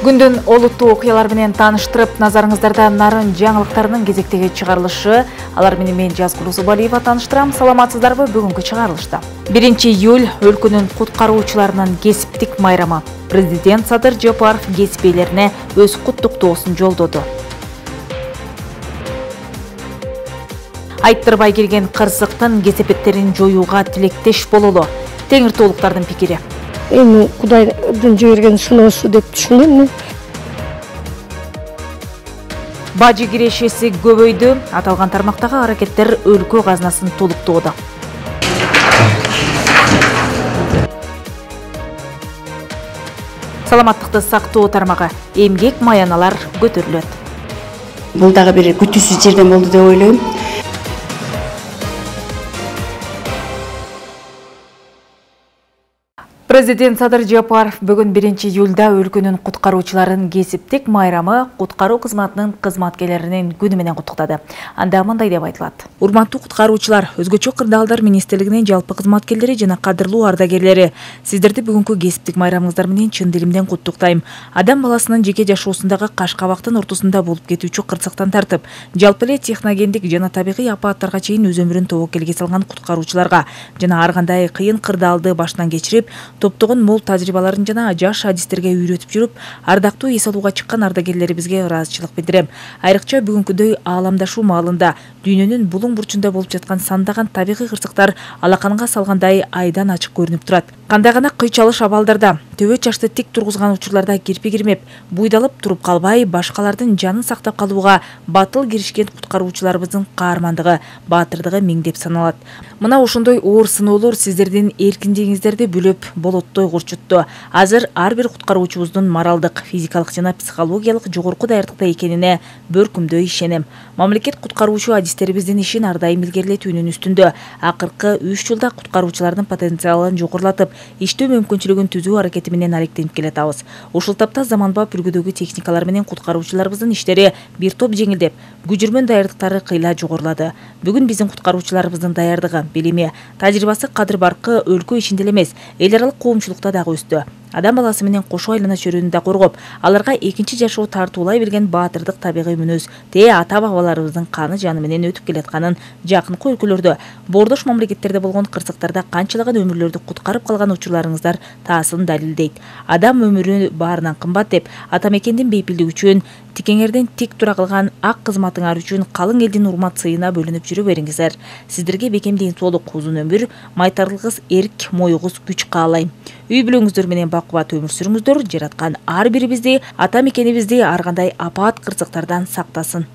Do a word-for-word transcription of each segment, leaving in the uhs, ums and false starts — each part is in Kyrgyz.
Күндүн олуттуу окуялар менен тааныштырып, назарыңыздарда нарын жаңылыктарынын кезектеги чыгарылышы. Алар менен мен Жазгул Усубалиева тааныштырам. Саламатсыздарбы? Бүгүнкү чыгарылышта. биринчи июль өлкөнүн куткаруучуларынын кесиптик майрамы. Президент Садыр Жапаров кесип ээлерине өз куттуктоосун жолдоду. Айттырбай келген кырсыктын кесепеттерин жоюуга тилектеш бололу. Теңиртоолуктардын пикири. Эми Кудайдын жиберген сыноосу деп түшүнөм. Бажы кирешеси көбөйдү. Аталган тармактагы аракеттер өлкө казынасын толуктоодо. Саламаттыкты сактоо тармагы, эмгек маяналар көтөрүлөт. Бул дагы бир күтүүсүз жерден болду деп ойлойм. Президент Садыр Жапаров бүгүн биринчи июлда өлкөнүн куткаруучуларын кесиптик майрамы куткаруу кызматынын кызматкерлеринин күнү менен куттуктады. Анда мындай деп айтылат. Урматтуу куткаруучулар, өзгөчө кырдаалдар министрлигинин жалпы кызматкерлери жана кадырлуу ардагерлери, сиздерди бүгүнкү кесиптик майрамыңыздар менен чын дилимден куттуктайм. Адам баласынын жеке жашоосундагы каш кабактын ортосунда болуп кетүүчү кырсыктан тартып, жалпы эле техногендик жана табигый апааттарга чейин өз өмүрүн тобокелге салган куткаруучуларга жана ар кандай кыйын кырдаалды баштан кечирип, топтогон мол тажрыйбаларын жана жаш адистерге үйрөтүп жүрүп, ардактуу эс алууга чыккан ардагерлерибизге ыраазычылык билдирем. Айрыкча бүгүнкүдөй ааламдашуу маалында дүйнөнүн булуң бурчунда болуп жаткан сандаган табигый кырсыктар алаканга салгандай айдан ачык көрүнүп турат. Кандай гана кыйчалыш абалдарда, төбө чачты тик тургузган учурларда кирпи кирмеп, буйдалып туруп калбай, башкалардын жанын сактап калууга батыл киришкен куткаруучуларыбыздын каармандыгы, баатырдыгы миңдеп саналат. Мына ошондой оор сыноолор сиздердин эркиндигиңиздерди бүлөп болоттой курчутту. Азыр ар бир куткаруучубуздун моралдык, физикалык жана психологиялык жогорку даярдыкта экенине бөркүмдөй ишенем. Мамлекет куткаруучу адистерибиздин ишин ар дайым илгерилетүүнүн үстүндө. Акыркы үч жылда куткаруучулардын потенциалын жогорулатып, иштөө мүмкүнчүлүгүн түзүү аракети менен аректенип келатабыз. Ушул тапта заманбап үлгүдөгү техникалар менен куткаруучуларыбыздын иштери бир топ жеңилдеп, күжүрмөн даярдыктары кыйла жогорулады. Бүгүн биздин куткаруучуларыбыздын даярдыгы, билими, тажрыйбасы кадыр баркы өлкө ичинде эмес, эл аралык коомчулукта дагы өстү. Адам баласы менен кошо айлана чөрүүнү да коргоп, аларга экинчи жашоо тартуулай билген баатырдык табигый мүнөз, тээ ата-бабаларыбыздын каны жаны менен өтүп келатканын жакынкы өлкөлөрдө, боордош мамлекеттерде болгон кырсыктарда канчалаган өмүрлөрдү куткарып калган учурларыңыздар таасын далилдейт. Адам өмүрү баарынан кымбат деп, ата мекендин бейпилдиги үчүн, тикеңерден тик тура кылган ак кызматыңар үчүн калың элдин урмат сыйына бөлүнүп жүрө бериңиздер. Сиздерге бекем ден-соолук, узун өмүр, майтарлыгыңыз эрк, моюңуз күч каалайм. Үй бүлөңүздөр менен бакубат өмүр сүрүңүздөр. Жараткан ар бирибизди, ата мекенибизди ар кандай апаат кырсыктардан сактасын.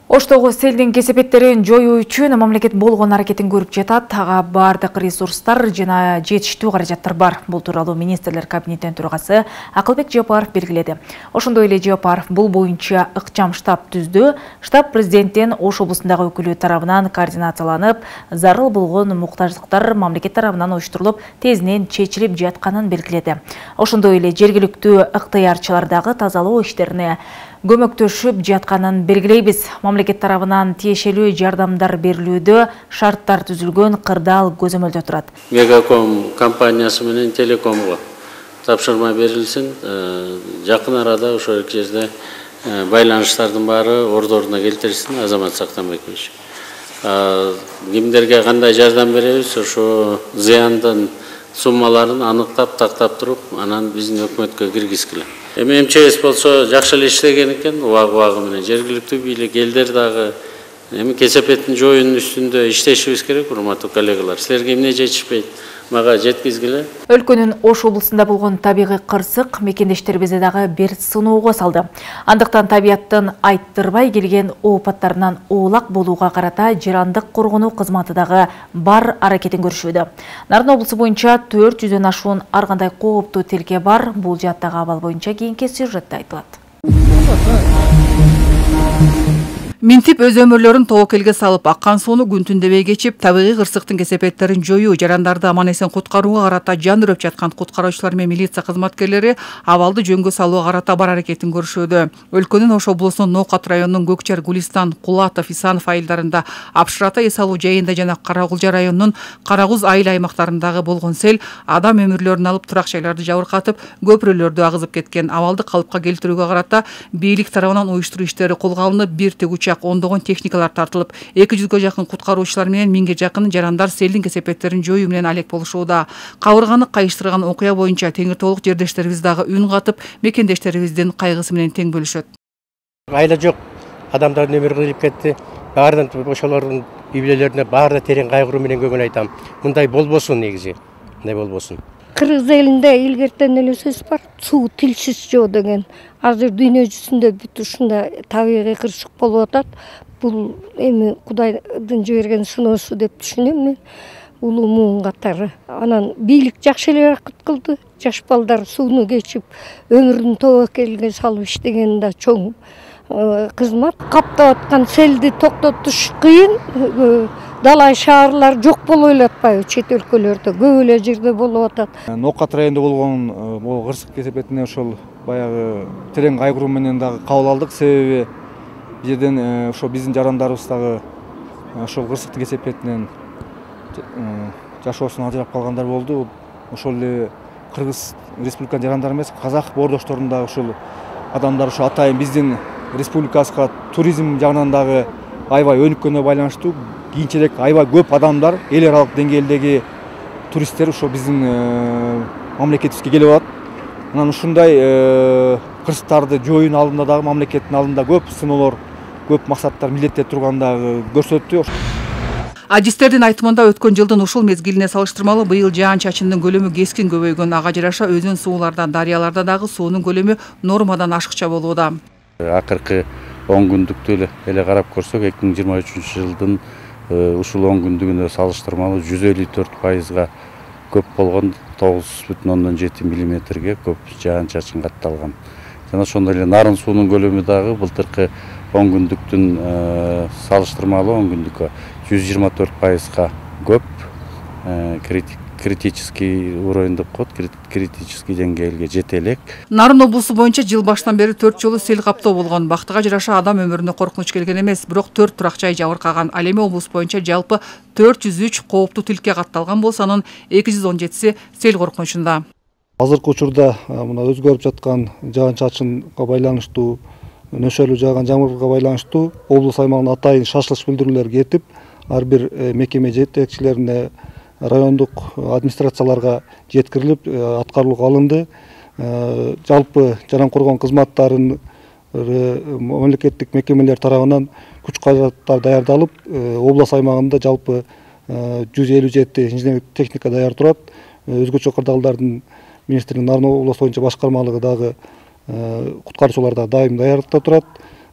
Оштогу селдин кесепеттерин жоюу үчүн мамлекет болгон аракетин көрүп жатат. Ага баардык ресурстар жана жетиштүү каражаттар бар. Бул тууралуу министрлер кабинетинин төрагасы Акылбек Жапаров белгиледи. Ошондой эле Жапаров бул боюнча ыкчам штаб түздү. Штаб президенттин Ош облусундагы өкүлү тарабынан координацияланып, зарыл болгон муктаждыктар мамлекет тарабынан оюштурулуп, тезинен чечилип жатканын белгиледи. Ошондой эле жергиликтүү ыктыярчылар дагы тазалоо иштерине көмөктөшүп жатканын белгилейбиз. Мамлекет тарабынан тиешелүү жардамдар берилүүдө шарттар түзүлгөн, кырдаал көзөмөлдө турат. Мегаком компаниясы менен Телекомго тапшырма берилсин. Жакын арада ошол жерде байланыштардын баары ордоруна келтирилсин. Азамат Сактанбекович. Кимдерге кандай жардам беребиз, ошо зыяндын суммаларын аныктап, тактап туруп, анан биздин өкмөткө киргизгиле. Эми эм че эс болсо жакшы эле иштеген экен, убагы-убагы менен жергиликтүү бийлик элдер дагы эми кесепеттин жоюунун үстүндө иштешибиз керек, урматтуу коллегалар. Силерге эмне жетишпейт? Мага жеткизгиле. Өлкөнүн Ош облусунда болгон табигый кырсык мекендештерибизди дагы бир сыноого салды. Андыктан табияттын айттырбай келген оопаттарынан оолак болууга карата жарандык коргонуу кызматы дагы бар аракетин көрүшүүдө. Нарын облусу боюнча төрт жүздөн ашуун ар кандай кооптуу тилке бар. Бул жаттагы абал боюнча кийинки сюжетте айтылат. Минтип өз өмүрлөрүн тобокелге салып, аккан сууну күн түндебей кечип, табигый кырсыктын кесепеттерин жоюу, жарандарды аман эсен куткарууга карата жан үрөп жаткан куткаруучулар менен милиция кызматкерлери абалды жөнгө салууга карата бар аракетин көрүшүүдө. Өлкөнүн Ош облусунун Ноокат районунун Көкчар, Гулистан, Кулатов, Исанов айылдарында, Апшырата, эс алуу жайында жана Карагулжа районунун Карагуз айыл аймактарындагы болгон сел адам өмүрлөрүн алып, турак жайларды жабыркатып, көпүрөлөрдү агызып кеткен. Абалды калыпка келтирүүгө карата бийлик тарабынан уюштуруу иштери колго алынып, бир тегүчак ондогон техникалар тартылып, эки жүзгө жакын куткаруучулар менен миңге жакын жарандар селдин кесепеттерин жоюу менен алек болушууда. Кабырганы кайыштырган окуя боюнча Теңир Тоолук жердештерибиз дагы үн катып, мекендештерибиздин кайгысы менен тең бөлүшөт. Айла жок, адамдардын өмүрү кыйылып кетти. Баарынан ошолордун үй бүлөлөрүнө баарына терең кайгыруу менен көңүл айтам. Мындай болбосун негизи. Мындай болбосун. Кыргыз элинде илгертен эле сөз бар, суу тилсиз жоо деген. Азыр дүйнө жүзүндө бүт ушундай табигый кырсык болуп атат. Бул эми Кудайдын жиберген сыноосу деп түшүнөм мен. Улуу муун катары. Анан бийлик жакшы эле аракет кылды. Жаш балдар сууну кечип, өмүрүн тобокелге салып иштеген да чоң кызмат. Каптап аткан селди токтотуш кыйын. Далай шаарлар жок болуп эле атпайбы? Чет өлкөлөрдө көп эле жерде болуп атат. Ноокат районунда болгон бул кырсык кесепетине ошол баягы терең кайгыруу менен дагы кабыл алдык. Себеби бул жерден ошо биздин жарандарыбыз дагы ошол кырсыктын кесепетинен жашоосун ажырап калгандар болду. Ошол эле Кыргыз республиканын жарандары эмес, казак боордошторунун дагы ушул адамдар ошо атайын биздин республикабызга туризм жагынан дагы аябай өнүккөнүнө байланыштуу кийинчерээк аябай көп адамдар эл аралык деңгээлдеги туристтер ошо биздин мамлекетибизге келип атат. Анан ушундай кырсыктарды жоюунун алдында дагы мамлекеттин алдында көп сыноолор, көп максаттар, милдеттер турганын дагы көрсөттү. Адистердин айтымында өткөн жылдын ушул мезгилине салыштырмалуу быйыл жаан-чачындын көлөмү кескин көбөйгөн. Ага жараша өзөн сууларда, дарыяларда дагы суунун көлөмү нормадан ашыкча болууда. Акыркы он күндүктү эле карап көрсөк, эки миң жыйырма үчүнчү жылдын ушул он күндүгүнө салыштырмалуу жүз элүү төрт пайызга көп болгон тогуз бүтүн ондон жети миллиметрге көп жаан-чачын катталган. Жана ошондой эле нарын суунун көлөмү дагы былтыркы он күндүктүн салыштырмалуу он күндүккө жүз жыйырма төрт пайызга көп, критический уровень деп коет, критический деңгээлге жете элек. Нарын облусу боюнча жыл баштан бери төрт жолу сел каптоо болгон. Бактыга жараша адам өмүрүнө коркунуч келген эмес, бирок төрт турак жай жабыркаган. Ал эми облус боюнча жалпы төрт жүз үч кооптуу тилкке катталган болсо, анын эки жүз он жетиси сел коркунучунда. Азыркы учурда мына өзгөрүп жаткан жаан-чачынга байланыштуу, нөшөлүү жааган жамгырга байланыштуу облус аймагына атайын шашылыш билдирүүлөр кетип, ар бир мекеме жетекчилерине, райондук администрацияларга жеткирилип, аткарууга алынды. Жалпы жаран коргоо кызматтарын мамлекеттик мекемелер тарабынан күч каражаттар даярдалып, облус аймагында жалпы жүз элүү жети инженер техника даяр турат. Өзгөчө кырдаалдардын министрлигинин Нарын облусу боюнча башкармалыгы дагы куткаруучулар да дайым даярдыкта турат.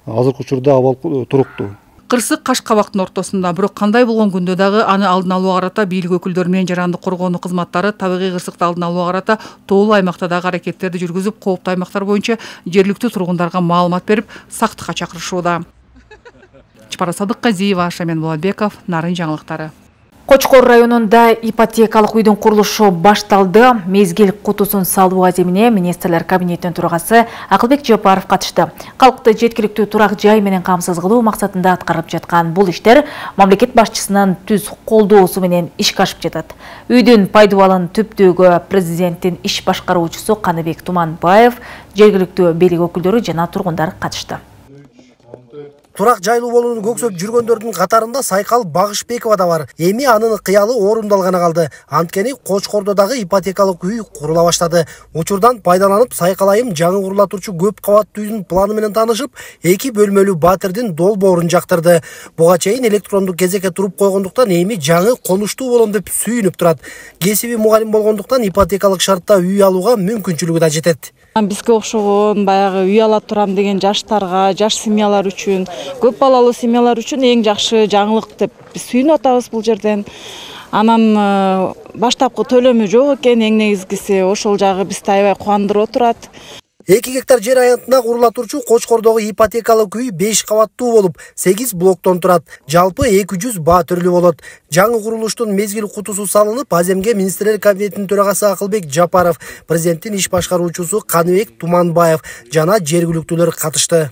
Азыркы учурда абал туруктуу. Кырсык каш кабактын ортосунда, бирок кандай болгон күндө дагы аны алдын алууга карата бийлик өкүлдөрү менен жаранды коргоонун кызматтары табигый кырсыкты алдын алууга карата тоолуу аймакта дагы аракеттерди жүргүзүп, кооптуу аймактар боюнча жергиликтүү тургундарга маалымат берип, сактыкка чакырышууда. Чапара Садыкказиева, Шамен Болотбеков, Нарын жаңылыктары. Кочкор районунда ипотекалык үйдүн курулушу башталды. Мезгил кутусун салуу аземине министрлер кабинетинин төрагасы Акылбек Жапаров катышты. Калкты жеткиликтүү турак жай менен камсыз кылуу максатында аткарылып жаткан бул иштер мамлекет башчысынын түз колдоосу менен ишке ашып жатат. Үйдүн пайдубалын түптөөгө президенттин иш башкаруучусу Каныбек Туманбаев, жергиликтүү бийлик өкүлдөрү жана тургундар катышты. Турак жайлуу болууну көксөп жүргөндөрдүн катарында Сайкал Багышбекова да бар. Эми анын кыялы орундалганы калды. Анткени Кочкордо дагы ипотекалык үй курула баштады. Учурдан пайдаланып, Сайкал айым жаңы курула турчу көп кабаттуу үйдүн планы менен таанышып, эки бөлмөлүү батирдин долбоорун жактырды. Буга чейин электрондук кезекке туруп койгондуктан эми жаңы конуштуу болом деп сүйүнүп турат. Кесиби мугалим болгондуктан ипотекалык шартта үй алууга мүмкүнчүлүгү да жетет. Бизге окшогон баягы үй ала турам деген жаштарга, жаш семьялар үчүн, көп балалуу семьялар үчүн эң жакшы жаңылык деп биз сүйүнүп атабыз бул жерден. Анан баштапкы төлөмү жок экен, эң негизгиси ошол жагы бизди аябай кубандырып отурат. эки гектар жер аянтына курула турчу Кочкордогу ипотекалык үй беш кабаттуу болуп, сегиз блоктон турат. Жалпы эки жүз баа түрлүү болот. Жаңы курулуштун мезгил кутусу салынып, Аземге министрлер кабинетинин төрагасы Акылбек Жапаров, президенттин иш башкаруучусу Каныбек Туманбаев жана жергиликтүүлөр катышты.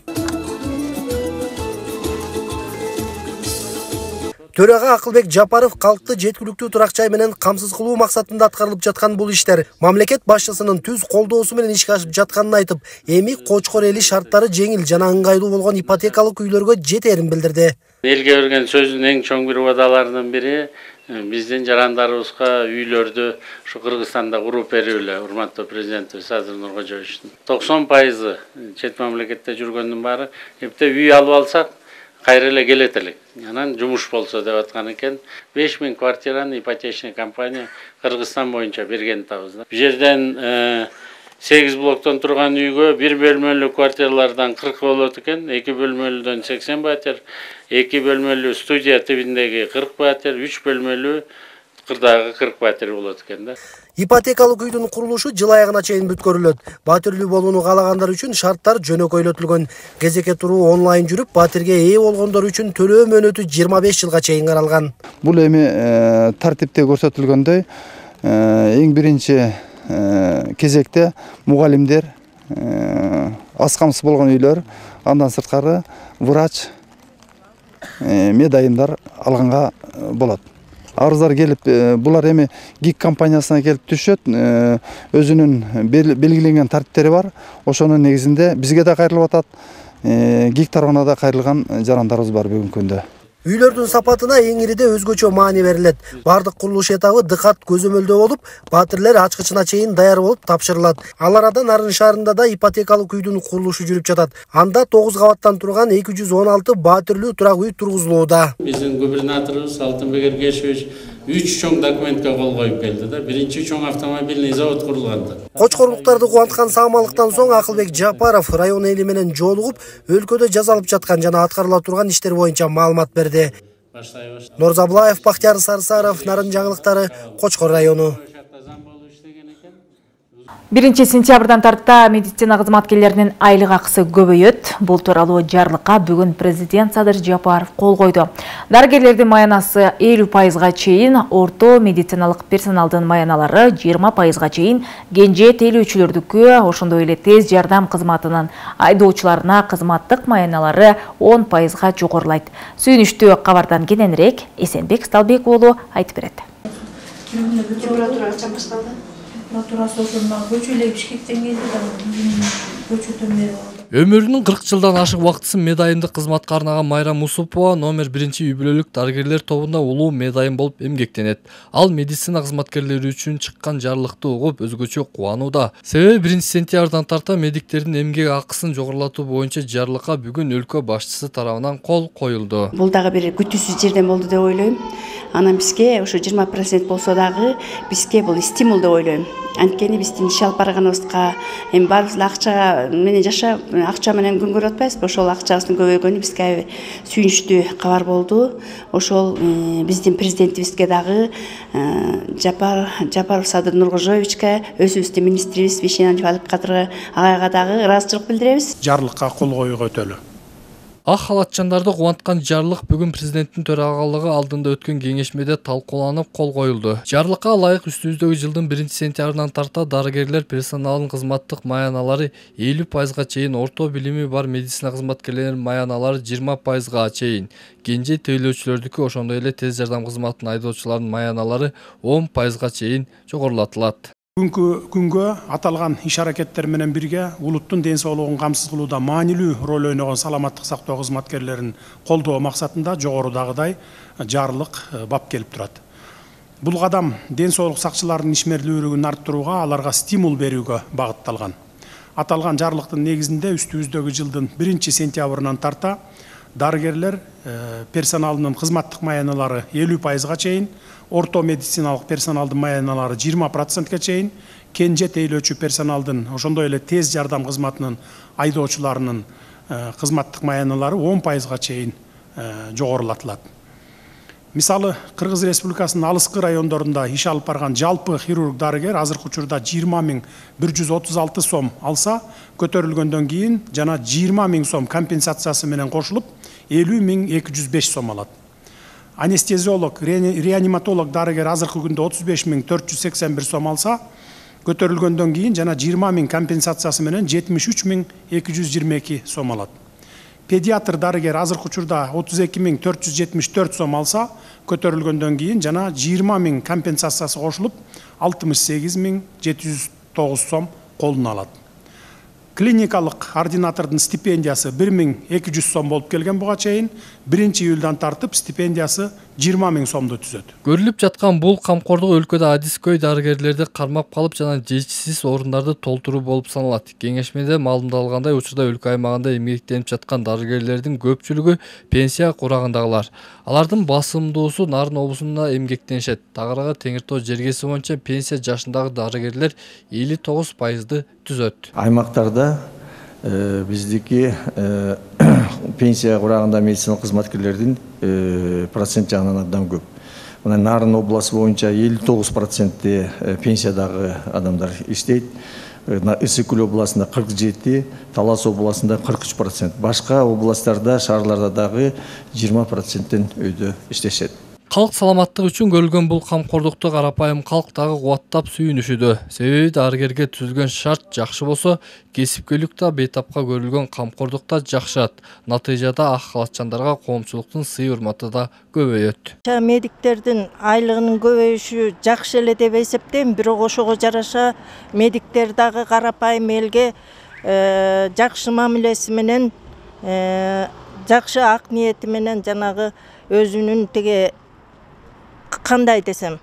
Төрага Акылбек Жапаров калкты жеткиликтүү турак жай менен камсыз кылуу максатында аткарылып жаткан бул иштер мамлекет башчысынын түз колдоосу менен ишке ашып жатканын айтып, эми Кочкор эли шарттары жеңил жана ыңгайлуу болгон ипотекалык үйлөргө жетерин билдирди. Элге берген сөздүн эң чоң бир убадаларынын бири биздин жарандарыбызга үйлөрдү ушу Кыргызстанда куруп берүү эле, урматтуу президентибиз Садыр Нуркожоевичтин. токсон пайызы чет мамлекетте жүргөндүн баары эпте үй алып алсак кайра эле келет элек. Анан жумуш болсо деп аткан экен. беш миң квартираны ипотечный компания Кыргызстан боюнча берген табыз. Бу жерден сегиз блоктон турган үйгө бир бөлмөлүү квартиралардан кырк болот экен, эки бөлмөлүүдөн сексен пәтер, эки бөлмөлүү студия тибиндеги кырк пәтер, үч бөлмөлүү кырдагы кырк пәтер болот экен да. Ипотекалык үйдүн курулушу жыл аягына чейин бүткөрүлөт. Батирлүү болууну каалагандар үчүн шарттар жөнөкөйлөтүлгөн. Кезекке туруу онлайн жүрүп, батирге ээ болгондор үчүн төлөө мөөнөтү жыйырма беш жылга чейин каралган. Бул эми тартипте көрсөтүлгөндөй эң биринчи кезекте мугалимдер, аз камсыз болгон үйлөр, андан сырткары врач, медайымдар алганга болот. Арыздар келип, булар эми ГИК компаниясына келип түшөт, өзүнүн белгиленген тартиптери бар. Ошонун негизинде бизге да кайрылып атат, ГИК тарабына да кайрылган жарандарыбыз бар бүгүнкү күндө. Үйлөрдүн сапатына эң ириде өзгөчө маани берилет. Бардык курулуш этабы дыкат көзөмөлдөө болуп, батирлер ачкычына чейин даяр болуп тапшырылат. Ал арадан Нарын шаарында да ипотекалык үйдүн курулушу жүрүп жатат. Анда тогуз кабаттан турган эки жүз он алты батирлүү турак үй тургузулууда. Биздин губернаторубуз Алтынбек Эргешевич үч чоң документке кол коюп келди да. Биринчи чоң автомобильный завод курулганда. Кочкорлуктарды кубанткан саамалыктан соң Акылбек Жапаров район эли менен жолугуп, өлкөдө жасалып жаткан жана аткарыла турган иштер боюнча маалымат берди. Норзаблаев, Бактияр Сарсаров, Нарын жаңылыктары, Кочкор району. биринчи сентябрдан тарта медицина кызматкерлеринин айлык акысы көбөйөт. Бул тууралуу жарлыкка бүгүн президент Садыр Жапаров кол койду. Дарыгерлердин маянасы элүү пайызга чейин, орто медициналык персоналдын маяналары жыйырма пайызга чейин, кенже тейлөөчүлөрдүкү, ошондой эле тез жардам кызматынын айдоочуларына кызматтык маяналары он пайызга жогорулайт. Сүйүнүчтүү кабардан кененирээк Эсенбек Сталбек уулу айтып берет. Прокуратурасы ошондо көчөлөп Бишкектен келди да, көчөдөн бери болду. Өмүрүнүн кырк жылдан ашык убактысын медайымдык кызматка арнаган Майра Мусупова номер биринчи үй бүлөлүк дарыгерлер тобунда улуу медайым болуп эмгектенет. Ал медицина кызматкерлери үчүн чыккан жарлыкты угуп өзгөчө кубанууда. Себеби биринчи сентябрдан тарта медиктердин эмгек акысын жогорулатуу боюнча жарлыкка бүгүн өлкө башчысы тарабынан кол коюлду. Бул дагы бир күтүүсүз жерден болду деп ойлойм. Анан бизге ошо жыйырма процент болсо дагы бизге бул стимул деп ойлойм. Анткени биздин иш алып барганыбызга эми баарыбыз акчага менен жаша акча менен күн көрүп атпайбызбы? Ошол акчабыздын көбөйгөнү бизге сүйүнүчтүү кабар болду. Ошол биздин президентибизге дагы Жапар Жапаров Садыр Нуркожоевичке, өзүбүздүн министрибиз Бишенан Кадырга агайга дагы ыраазычылык билдиребиз. Жарлыкка кол коюуга өтөлү. Ак халатчандарды кубанткан жарлык бүгүн президенттин төрагалыгы алдында өткөн кеңешмеде талкууланып кол коюлду. Жарлыкка ылайык үстүбүздөгү жылдын биринчи сентябрынан тарта дарыгерлер персоналынын кызматтык маяналары элүү пайызга чейин, орто билими бар медицина кызматкерлеринин маяналары жыйырма пайызга чейин, кенже тейлөөчүлөрдүкү, ошондой эле тез жардам кызматынын айдоочуларынын маяналары он пайызга чейин жогорулатылат. Бүгүнкү күнгө аталган иш аракеттер менен бирге улуттун ден соолугун камсыз кылууда маанилүү роль ойногон саламаттык сактоо кызматкерлерин колдоо максатында жогорудагыдай жарлык бап келип турат. Бул кадам ден соолук сакчыларынын ишмерлүүлүгүн арттырууга, аларга стимул берүүгө багытталган. Аталган жарлыктын негизинде үстүбүздөгү жылдын биринчи сентябрынан тарта дарыгерлер персоналынын кызматтык маяналары элүү пайызга чейин, орто медициналык персоналдын маяналары жыйырма процентке чейин, кенже тейлөөчү персоналдын, ошондой эле тез жардам кызматынын айдоочуларынын кызматтык маяналары он пайызга чейин жогорулатылат. Мисалы, Кыргыз Республикасынын алыскы райондорунда иш алып барган жалпы хирург дарыгер азыркы учурда жыйырма миң бир жүз отуз алты сом алса, көтөрүлгөндөн кийин жана жыйырма миң сом компенсациясы менен кошулуп элүү миң эки жүз беш сом алат. Анестезиолог, реаниматолог дарыгер азыркы күндө отуз беш миң төрт жүз сексен бир сом алса, көтөрүлгөндөн кийин жана жыйырма миң компенсациясы менен жетимиш үч миң эки жүз жыйырма эки сом алат. Педиатр дарыгер азыркы учурда отуз эки миң төрт жүз жетимиш төрт сом алса, көтөрүлгөндөн кийин жана жыйырма миң компенсациясы кошулуп алтымыш сегиз миң жети жүз тогуз сом колуна алат. Клиникалык ординатордун стипендиясы бир миң эки жүз сом болуп келген буга чейин, биринчи июлдан тартып стипендиясы жыйырма миң сомду түзөт. Көрүлүп жаткан бул камкордук өлкөдө адискөй дарыгерлерди кармап калып жана жетишсиз орундарды толтуруу болуп саналат. Кеңешмеде маалымдалгандай, учурда өлкө аймагында эмгектенип жаткан дарыгерлердин көпчүлүгү пенсия курагындагылар. Алардын басымдуусу Нарын облусунда эмгектенишет. Тагыраагы Теңир Тоо жергеси боюнча пенсия жашындагы дарыгерлер элүү тогуз пайызды түзөт. Аймактарда биздики пенсия курагында медициналык кызматкерлердин процент жагынан абдан көп. Мына Нарын обласы боюнча элүү тогуз процентте пенсиядагы адамдар иштейт. Ысык-Көл областында кырк жети, Талас областында кырк үч процент. Башка областтарда, шаарларда дагы жыйырма проценттен өйдө иштешет. Калк саламаттыгы үчүн көрүлгөн бул камкордукту карапайым калк дагы кубаттап сүйүнүшүдө. Себеби дарыгерге түзүлгөн шарт жакшы болсо, кесипкөйлүк да бейтапка көрүлгөн камкордук да жакшырат. Натыйжада ак халатчандарга коомчулуктун сый-урматы да көбөйөт. Медиктердин айлыгынын көбөйүшү жакшы эле деп эсептейм, бирок ошого жараша медиктер дагы карапайым элге жакшы мамилеси менен, жакшы ак ниети менен жанагы өзүнүн теге кандай десем,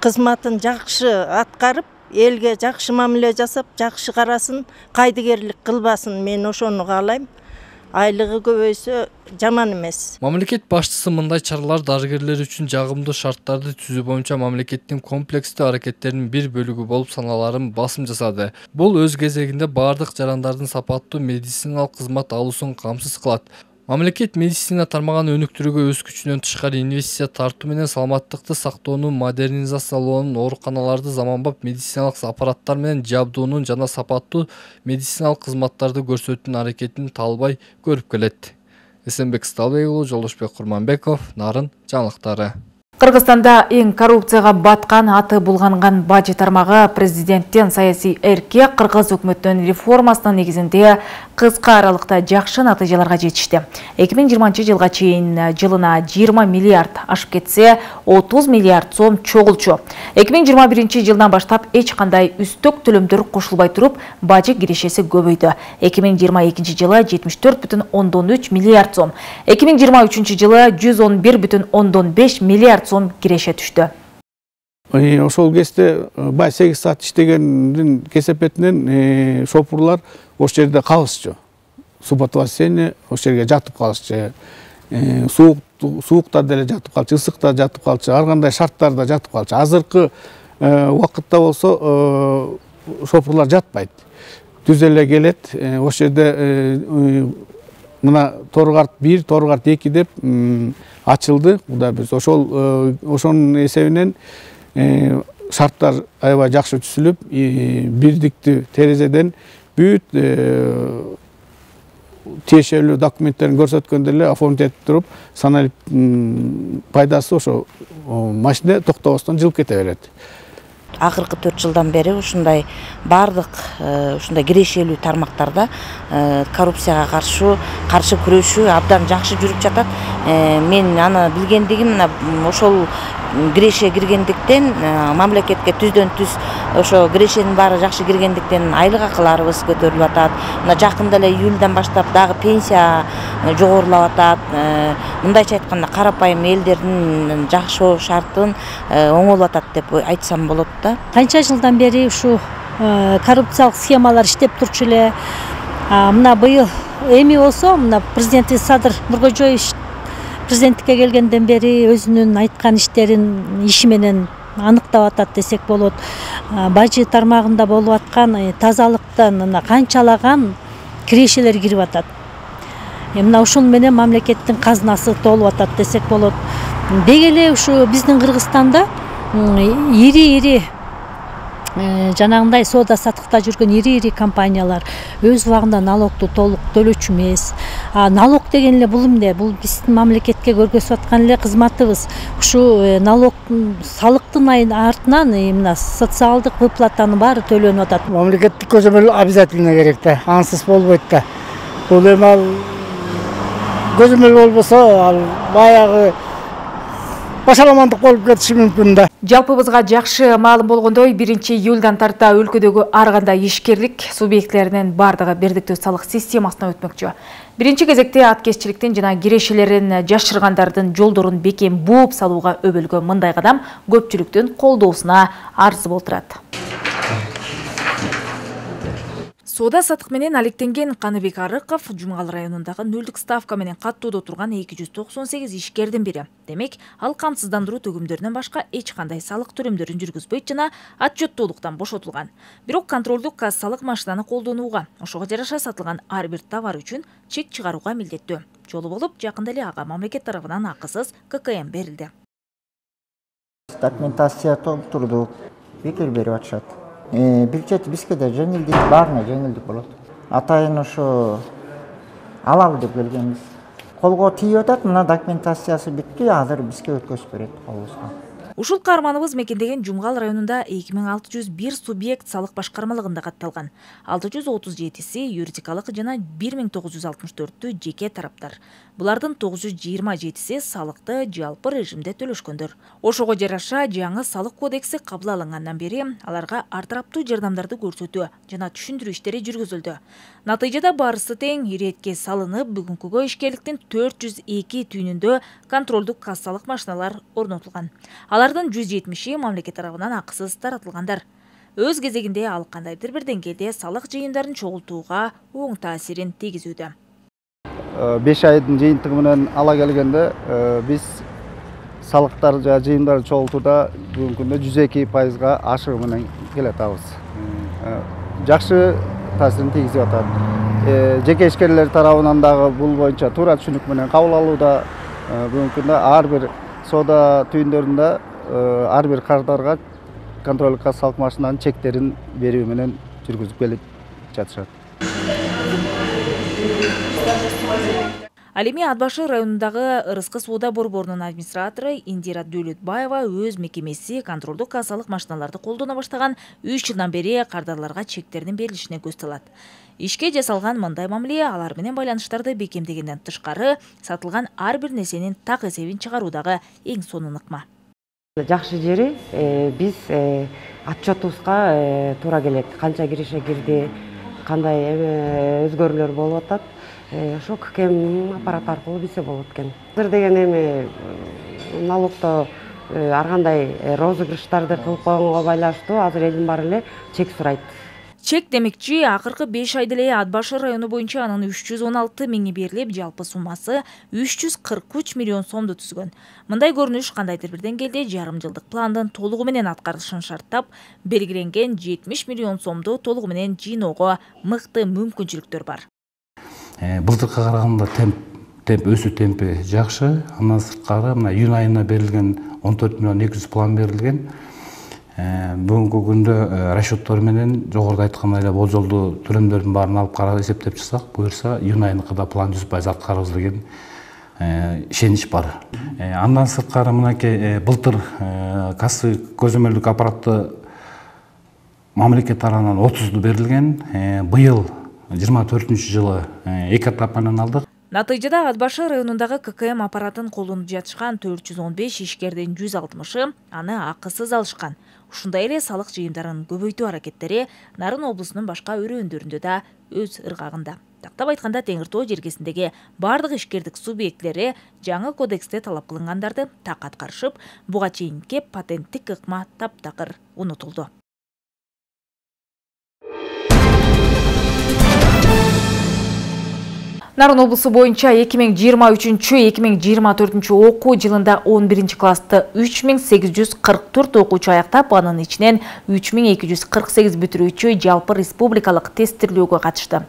кызматын жакшы аткарып, элге жакшы мамиле жасап, жакшы карасын, кайдыгерлик кылбасын, мен ошону каалайм. Айлыгы көбөйсө жаман эмес. Мамлекет башчысы мындай чаралар дарыгерлер үчүн жагымдуу шарттарды түзүү боюнча мамлекеттин комплекстүү аракеттеринин бир бөлүгү болуп саналарын басым жасады. Бул өз кезегинде бардык жарандардын сапаттуу медициналык кызмат алуусун камсыз кылат. Мамлекет медицина тармагын өнүктүрүүгө өз күчүнөн тышкары инвестиция тартуу менен саламаттыкты сактоонун модернизациялоонун, ооруканаларды заманбап медициналык аппараттар менен жабдуунун жана сапаттуу медициналык кызматтарды көрсөтүүнүн аракетин талбай көрүп келет. Эсенбек Сталбек уулу, Жолдошбек Курманбеков, Нарын жаңылыктары. Кыргызстанда эң коррупцияга баткан, аты булганган бажы тармагы президенттен саясий эркке кыргыз өкмөтүнүн реформасынын негизинде кыска аралыкта жакшы натыйжаларга жетишти. эки миң жыйырманчы жылга чейин жылына жыйырма миллиард ашып кетсе, отуз миллиард сом чогулчу. эки миң жыйырма биринчи жылдан баштап эч кандай үстөк төлөмдөр кошулбай туруп, бажы кирешеси көбөйдү. эки миң жыйырма экинчи жылы жетимиш төрт бүтүн ондон үч миллиард сом, эки миң жыйырма үчүнчү жылы жүз он бир бүтүн ондон беш миллиард сом киреше түштү. Ошол кезде бай сегиз саат иштегендин кесепетинен шопурлар ошол жерде калышчу. Суббота-воскресенье ошол жерге жатып калышчу. Суук суукта деле жатып калчу, ысыкта жатып калчу, ар кандай шарттарда жатып калчу. Азыркы убакытта болсо шопурлар жатпайт. Түз эле келет. Ошол жерде мына Торгарт бир, Торгарт эки деп ачылды. Кудай биз ошол ошонун эсебинен шарттар аябай жакшы түзүлүп, бирдиктүү терезеден бүт тиешелүү документтерин көрсөткөндө эле оформить этип туруп, саналип пайдасы ошо машина токтобостон жылып кете берет. Акыркы төрт жылдан бери ушундай бардык ушундай кирешелүү тармактарда коррупцияга каршы каршы күрөшүү абдан жакшы жүрүп жатат. Мен аны билгендигим мына ошол киреше киргендиктен мамлекетке түздөн түз ошо кирешенин баары жакшы киргендиктен айлык акыларыбыз көтөрүлүп атат. Мына жакында эле июлдан баштап дагы пенсия жогорулап атат. Мындайча айтканда карапайым элдердин жакшы шартын оңолуп атат деп айтсам болот да. Канча жылдан бери ушу коррупциялык схемалар иштеп турчу эле. Мына быйыл эми болсо мына президент Садыр Нуркожоевич президенттикке келгенден бери өзүнүн айткан иштерин иши менен аныктап атат десек болот. Бажы тармагында болуп аткан тазалыктан мына канчалаган кирешелер кирип атат. Мына ушун менен мамлекеттин казынасы толуп атат десек болот. деги эле ушу биздин Кыргызстанда ири ири жанагындай соода саттыкта жүргөн ири ири компаниялар өз убагында налогду толук төлөчү эмес. Налог деген эле бул эмне? Бул биздин мамлекетке көргөзүп аткан эле кызматыбыз. Ушу налог салыктын артынан мына социалдык выплатанын баары төлөнүп атат. Мамлекеттик көзөмөл обязательно керек да, ансыз болбойт да. Бул эми ал көзөмөл болбосо ал баягы башаламандык болуп кетиши мүмкүн да. Жалпыбызга жакшы маалым болгондой, биринчи июлдан тарта өлкөдөгү ар кандай ишкерлик субъектилеринин бардыгы бирдиктүү салык системасына өтмөкчү. Биринчи кезекте аткезчиликтин жана кирешелерин жашыргандардын жолдорун бекем бууп салууга өбөлгөн мындай кадам көпчүлүктүн колдоосуна арзы болтурат. Соода саттык менен алектенген Каныбек Арыков Жумгал районундагы нөлдүк ставка менен каттоодо турган эки жүз токсон сегиз ишкердин бири. Демек, ал камсыздандыруу төгүмдөрүнөн башка эч кандай салык төлөмдөрүн жүргүзбөйт жана отчеттуулуктан бошотулган. Бирок контролдук кассалык машинаны колдонууга, ошого жараша сатылган ар бир товар үчүн чек чыгарууга милдеттүү. Жолу болуп, жакында эле ага мамлекет тарабынан акысыз ка ка эм берилди. Документация толтурдук, бекер берип атышат. Бир чети бизге да жеңилдик, баарына жеңилдик болот. Атайын ошо алалы деп келгенбиз. Колго тийип атат, мына документациясы бүттү, азыр бизге өткөзүп берет колубузга. Ушул каарманыбыз мекендеген Жумгал районунда эки миң алты жүз бир субъект салык башкармалыгында катталган. алты жүз отуз жетиси юридикалык жана бир миң тогуз жүз алтымыш төртү жеке тараптар. Булардын тогуз жүз жыйырма жетиси салыкты жалпы режимде төлөшкөндөр. Ошого жараша жаңы салык кодекси кабыл алынгандан бери аларга ар тараптуу жардамдарды көрсөтүү жана түшүндүрүү иштери жүргүзүлдү. Натыйжада барысы тең иретке салынып, бүгүнкүгө ишкерликтин төрт жүз эки түйүнүндө контролдук кассалык машиналар орнотулган. Алардын жүз жетимиши мамлекет тарабынан акысыз таратылгандар. Өз кезегинде ал кандайдыр бир деңгээлде салык жыйындарын чогултууга оң таасирин тийгизүүдө. беш айдын жыйынтыгы менен ала келгенде биз салыктар жана жыйындарды чогултууда бүгүнкү күндө жүз эки пайызга ашыгуу менен келатабыз. Жакшы таасирин тийгизип атат. Жеке ишкерлер тарабынан дагы бул боюнча туура түшүнүк менен кабыл алууда. Бүгүнкү күндө ар бир соода түйүндөрүндө ар бир кардарга контролдук кассалык машинанын чектерин берүү менен жүргүзүп келип жатышат. Ал эми Ат башы районундагы Ырыскы соода борборунун администратору Индира Дөлөтбаева өз мекемеси контролдук кассалык машиналарды колдоно баштаган үч жылдан бери кардарларга чектердин берилишине көз салат. Ишке жасалган мындай мамиле алар менен байланыштарды бекемдегенден тышкары сатылган ар бир нерсенин так эсебин чыгаруудагы эң сонун ыкма. Жакшы жери биз отчетубузга туура келет. Канча киреше кирди, кандай өзгөрүүлөр болуп атат. Ошо ка ка эм аппарат аркылуу билсе болот экен. Азыр деген эми налогто ар кандай розыгрыштарды кылып койгонго байланыштуу азыр элдин баары эле чек сурайт. Чек демекчи, акыркы беш айда эле Ат башы району боюнча анын үч жүз он алты миңи берилип, жалпы суммасы үч жүз кырк үч миллион сомду түзгөн. Мындай көрүнүш кандайдыр бир деңгээлде жарым жылдык пландын толугу менен аткарылышын шарттап, белгиленген жетимиш миллион сомду толугу менен жыйноого мыкты мүмкүнчүлүктөр бар. Былтыркыга караганда темп темп өсүү темпи жакшы. Андан сырткары мына июнь айына берилген он төрт миллион эки жүз план берилген. Бүгүнкү күндө расчеттор менен жогоруда айткандай эле болжолдуу төлөмдөрдүн баарын алып карап эсептеп чыксак, буюрса июнь айыныкыда план жүз пайыз аткарабыз деген ишенич бар. Андан сырткары мынакей былтыр кассовый көзөмөлдүк аппаратты мамлекет тарабынан отузду берилген. Быйыл жыйырма төртүнчү жылы эки этап менен алдык. Натыйжада Ат башы районундагы ка ка эм аппаратын колдонуп жатышкан төрт жүз он беш ишкердин жүз алтымышы аны акысыз алышкан. Ушундай эле салык жыйындарын көбөйтүү аракеттери Нарын облусунун башка өрөөндөрүндө да өз ыргагында. Тактап айтканда, Теңир Тоо жергесиндеги бардык ишкердик субъектлери жаңы кодексте талап кылынгандарды так аткарышып, буга чейинки патенттик ыкма таптакыр унутулду. Нарын облусу боюнча эки миң жыйырма үчүнчү эки миң жыйырма төртүнчү окуу жылында он биринчи классты үч миң сегиз жүз кырк төрт окуучу аяктап, анын ичинен үч миң эки жүз кырк сегиз бүтүрүүчү жалпы республикалык тесттирүүгө катышты.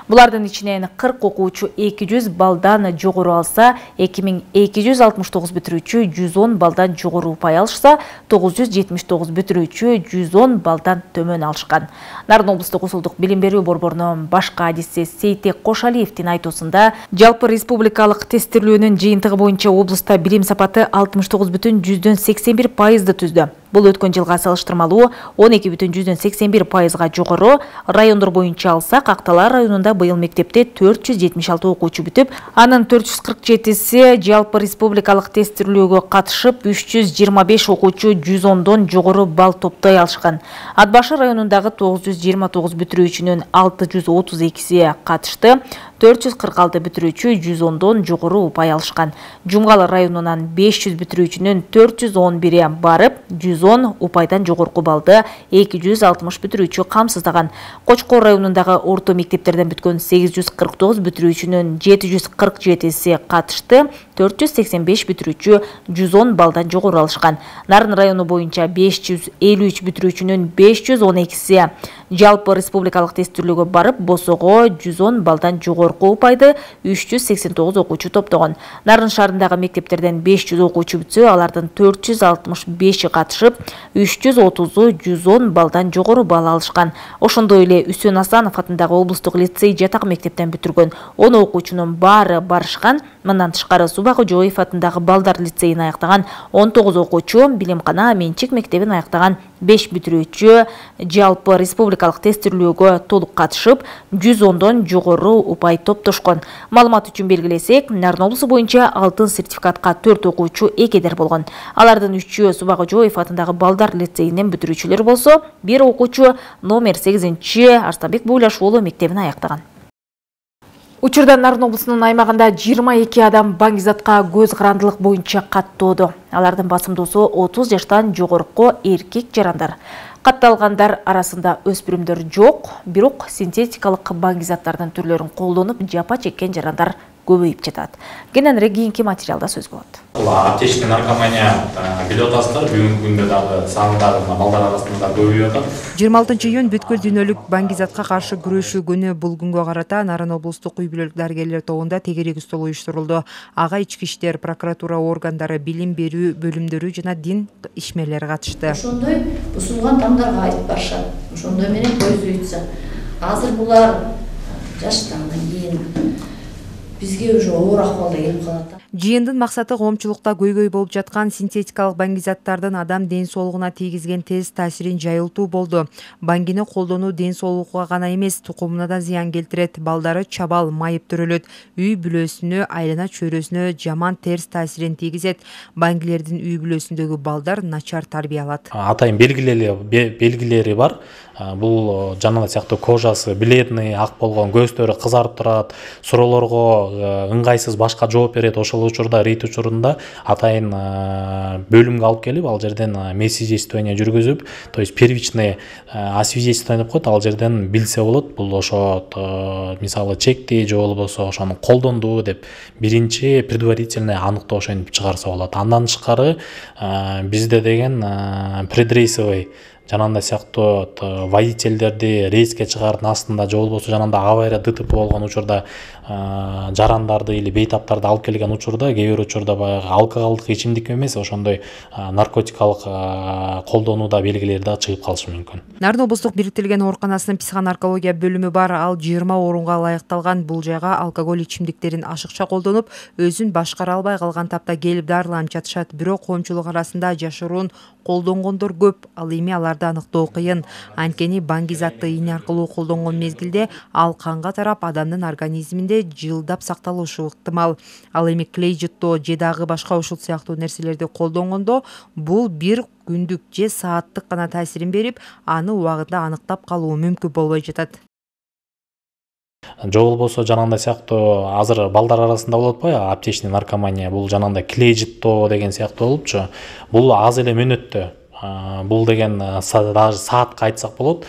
Булардын ичинен кырк окуучу эки жүз баллдан жогору алса, эки миң эки жүз алтымыш тогуз бүтүрүүчү жүз он баллдан жогору упай алышса, тогуз жүз жетимиш тогуз бүтүрүүчү жүз он баллдан төмөн алышкан. Нарын облустук Ушулдук билим берүү борборунун башкы адиси Сейтек Кошалиевдин айтуусунда, жалпы республикалык тесттирүүнүн жыйынтыгы боюнча облуста билим сапаты алтымыш тогуз бүтүн жүздөн сексен бир пайызды түздү. Бул өткөн жылга салыштырмалуу он эки бүтүн жүздөн сексен бир пайызга жогору. Райондор боюнча алсак, Акталар районунда быйыл мектепте төрт жүз жетимиш алты окуучу бүтүп, анын төрт жүз кырк жетиси жалпы республикалык тесттирүүгө катышып, үч жүз жыйырма беш окуучу жүз ондон жогору балл топтой алышкан. Ат башы районундагы тогуз жүз жыйырма тогуз бүтүрүүчүнүн алты жүз отуз экиси катышты, төрт жүз кырк алты бүтүрүүчү жүз ондон жогору упай алышкан. Жумгал районунан беш жүз бүтүрүүчүнүн төрт жүз он бири барып, жүз он упайдан жогорку баллды эки жүз алтымыш бүтүрүүчү камсыздаган. Кочкор районундагы орто мектептерден бүткөн сегиз жүз кырк тогуз бүтүрүүчүнүн жети жүз кырк жетиси катышты, төрт жүз сексен беш бүтүрүүчү жүз он баллдан жогору алышкан. Нарын району боюнча беш жүз элүү үч бүтүрүүчүнүн беш жүз он экиси жалпы республикалык тесттирүүгө барып, босого жүз он баллдан жогорку упайды үч жүз сексен тогуз окуучу топтогон. Нарын шаарындагы мектептерден беш жүз окуучу бүтсө, алардын төрт жүз алтымыш беши катышып, үч жүз отузу жүз он баллдан жогору балл алышкан. Ошондой эле Үсөн Асанов атындагы облустук лицей жатак мектептен бүтүргөн он окуучунун баары барышкан. Мындан тышкары Суба Кожоев атындагы балдар лицейин аяктаган он тогуз окуучу, Билимкана менчик мектебин аяктаган беш бүтүрүүчү жалпы республикалык тесттирүүгө толук катышып, жүз ондон жогору упай топтошкон. Маалымат үчүн белгилесек, Нарын облусу боюнча алтын сертификатка төрт окуучу эгедер болгон. Алардын үчөө Суба Кожоев атындагы балдар лицейинен бүтүрүүчүлөр болсо, бир окуучу номер сегизинчи Арстанбек Буйлаш уулу мектебин аяктаган. Учурда Нарын облусунун аймагында жыйырма эки адам баңгизатка көз карандылык боюнча каттоодо. Алардын басымдуусу отуз жаштан жогорку эркек жарандар. Катталгандар арасында өспүрүмдөр жок, бирок синтетикалык баңгизаттардын түрлөрүн колдонуп жапа чеккен жарандар көбөйүп жатат. Кененирээк кийинки материалда сөз болот. Бул аптечный наркомания билип атасыздар, бүгүнкү күндө дагы сандагы балдар арасында көбөйүп атат. жыйырма алтынчы июнь бүткүл дүйнөлүк баңгизатка каршы күрөшүү күнү. Бул күнгө карата Нарын облустук үй бүлөлүк дарыгерлер тобунда тегерек стол уюштурулду. Ага ички иштер, прокуратура органдары, билим берүү бөлүмдөрү жана дин ишмерлери катышты. Ошондой бузулган тамдарга айтып барышат. Ошондой менен көздөйтсө. Азыр булар жаштандан кийин бизге уже оор акыбалда келип калат. Жыйындын максаты коомчулукта көйгөй болуп жаткан синтетикалык баңгизаттардын адам ден соолугуна тийгизген терс таасирин жайылтуу болду. Баңгини колдонуу ден соолукка гана эмес, тукумуна да зыян келтирет. Балдары чабал, майып төрөлөт, үй бүлөсүнө, айлана чөйрөсүнө жаман терс таасирин тийгизет. Баңгилердин үй бүлөсүндөгү балдар начар тарбия алат. Атайын белгилери бар. Бул жанагы сыяктуу кожасы бледный, ак болгон, көздөрү кызарып турат, суроолорго ыңгайсыз башка жооп берет. Ошол учурда рейд учурунда атайын бөлүмгө алып келип, ал жерден медсвидетельствование жүргүзүп, то есть первичный освидетельствование деп коет, ал жерден билсе болот, бул ошо мисалы чекти же болбосо ошону колдонду деп биринчи предварительный аныктоо ошентип чыгарса болот. Андан тышкары бизде деген предрейсовый жанагындай сыяктуу водительдерди рейске чыгаардын астында же болбосо жанагындай авария ДТП болгон учурда жарандарды или бейтаптарды алып келген учурда, кээ бир учурда баягы алкоголдук ичимдик эмес, ошондой наркотикалык колдонууда белгилери да чыгып калышы мүмкүн. Нарын облустук бириктирилген ооруканасынын психонаркология бөлүмү бар. Ал жыйырма орунга ылайыкталган. Бул жайга алкоголь ичимдиктерин ашыкча колдонуп, өзүн башкара албай калган тапта келип дарыланып жатышат. Бирок коомчулук арасында жашыруун колдонгондор көп. Ал эми аларды аныктоо кыйын. Анткени баңгизатты ийне аркылуу колдонгон мезгилде ал канга тарап адамдын организминде жылдап сакталышы ыктымал. Ал эми клей жыттоо же дагы башка ушул сыяктуу нерселерди колдонгондо бул бир күндүк же сааттык гана таасирин берип, аны убагында аныктап калуу мүмкүн болбой жатат. Же болбосо жанагындай сыяктуу азыр балдар арасында болот атпайбы, аптечный наркомания, бул жанагындай клей жыттоо деген сыяктуу болупчу. Бул аз эле мөөнөттө Бул деген даже саатка айтсак болот,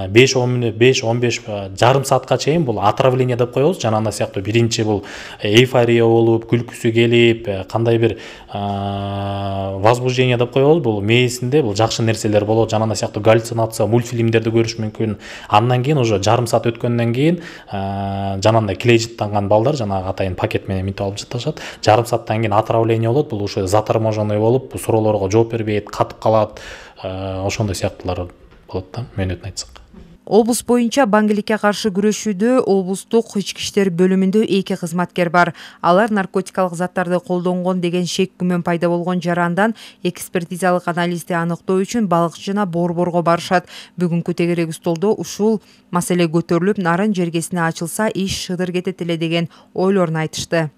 беш он мүнөт, беш он беш жарым саатка чейин бул отравление деп коебуз. Жанагындай сыяктуу биринчи бул эйфория болуп, күлкүсү келип, кандай бир возбуждение деп коебуз. Бул мээсинде бул жакшы нерселер болот, жанагындай сыяктуу галлюцинация, мультфильмдерди көрүш мүмкүн. Андан кийин уже жарым саат өткөндөн кийин жанагындай клейжиттанган балдар жанагы атайын пакет менен мынтип алып жатышат. Жарым сааттан кийин отравление болот. Бул ушу заторможенный болуп, суроолорго жооп бербейт, катып калат. Ошондой сыяктуулар болот да, мөөнөтүн айтсак. Облус боюнча баңгиликке каршы күрөшүүдө облустук ички иштер бөлүмүндө эки кызматкер бар. Алар наркотикалык заттарды колдонгон деген шек күмөн пайда болгон жарандан экспертизалык анализди аныктоо үчүн балыкчы жана борборго барышат. Бүгүнкү тегерек столдо ушул маселе көтөрүлүп, нарын жергесине ачылса иш шыдыр кетет эле деген ойлорун айтышты.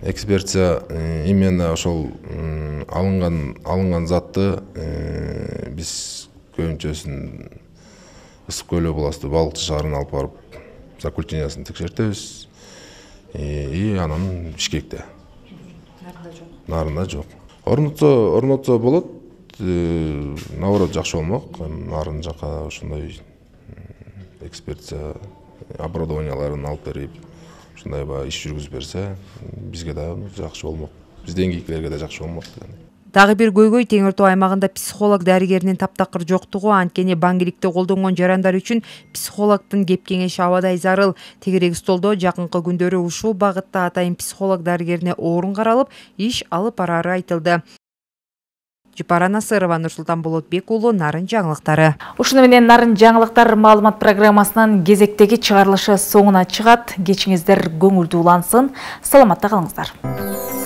Экспертиза именно ошол алынган алынган затты биз көбүнчөсүн Ысык көл областы балыкчы шаарына алып барып, закультиниясын текшертебиз. И анан Бишкекте. Нарында жок. Нарында жок. Орнотсо, орнотсо болот. Наоборот жакшы болмок. Нарын жака ошондой экспертиза оборудованияларын алып берип, ушундай ба иш жүргүзүп берсе, бизге да жакшы болмок. Бизденгикилерге да жакшы болмок. Дагы бир көйгөй Теңир Тоо аймагында психолог дарыгеринин таптакыр жоктугу, анткени баңгиликти колдонгон жарандар үчүн психологдун кеп кеңеши абадай зарыл. Тегерек столдо жакынкы күндөрү ушул багытта атайын психолог дарыгерине орун каралып, иш алып барары айтылды. Жапара Насырова, Нурсултан Болотбек уулу, Нарын жаңылыктары. Ушуну менен Нарын жаңылыктар маалымат программасынын кезектеги чыгарылышы соңуна чыгат. Кечиңиздер көңүлдүү улансын. Саламатта калыңыздар.